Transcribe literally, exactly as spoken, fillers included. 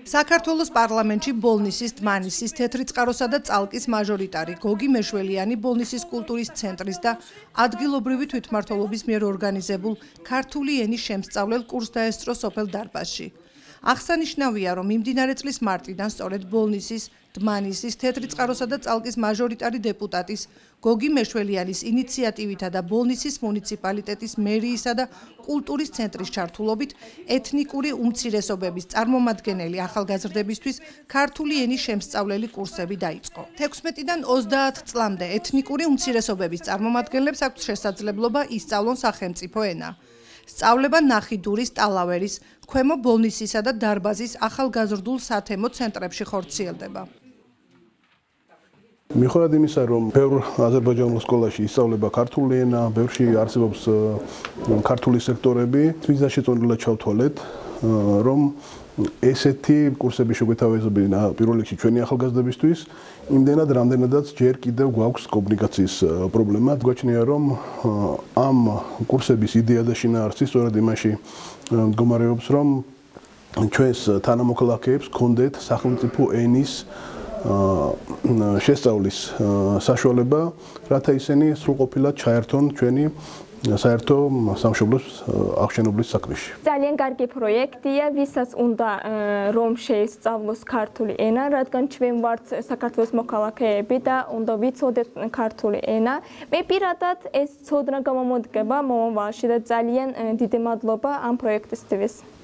საქართველოს პარლამენტში ბოლნისის, დმანისის, თეთრი წყაროსა და წალკის მაჟორიტარი გოგი მეშველიანი ბოლნისის კულტურის ცენტრის და ადგილობრივი თვითმმართველობის მიერ ორგანიზებულ ქართული ენის შემსწავლელ კურსს დაესწრო სოფელ დარბაზში. აღსანიშნავია, რომ მიმდინარე წლის მარტიდან სწორედ ბოლნისის, დმანისის, თეთრი წყაროსა და წალკის მაჟორიტარი დეპუტატის გოგი მეშველიანის ინიციატივითა და ბოლნისის მუნიციპალიტეტის მერიისა და კულტურის ცენტრის ჩართულობით ეთნიკური უმცირესობების წარმომადგენელი ახალგაზრდებისთვის ქართული ენის შემსწავლელი კურსები დაიწყო. თექვსმეტიდან ოცდაათ წლამდე ეთნიკური უმცირესობების წარმომადგენლებს აქვთ შესაძლებლობა ისწავლონ სახელმწიფო ენა. სწავლება ნახიდურის, ტალავერის, ქვემო ბოლნისისა და დარბაზის ახალგაზრდულ სათემო ცენტრებში ხორციელდება. მიუხედავად იმისა, რომ ბევრ აზერბაიჯანულ სკოლაში ისწავლება ქართული ენა, ბევრში არსებობს ქართული სექტორები, თვითონ შეწონილად ჩავთვალეთ, რომ ესეთი კურსები შეგვეთავაზებინა პირველ რიგში ჩვენი ახალგაზრდებისთვის, იმდენად რამდენადაც ჯერ კიდევ გვაქვს კომუნიკაციის პრობლემა. გვაჩნია, რომ ამ კურსების იდეა და შინაარსი სწორედ იმაში მდგომარეობს, რომ ჩვენს თანამოქალაქეებს ჰქონდეთ სახელმწიფო ენის შესწავლის საშუალება, რათა ისინი სრულყოფილად ჩაერთონ ჩვენი საერთო სამშობლოს აღშენებლის საქმეში. ძალიან კარგი პროექტია, ვისაც უნდა რომ შეისწავლოს ქართული ენა, რადგან ჩვენ ვართ საქართველოს მოქალაქეები და უნდა ვიცოდეთ ქართული ენა. მე პირადად ეს ცოდნა გამომოდგება მომავალში და ძალიან დიდი მადლობა ამ პროექტისთვის.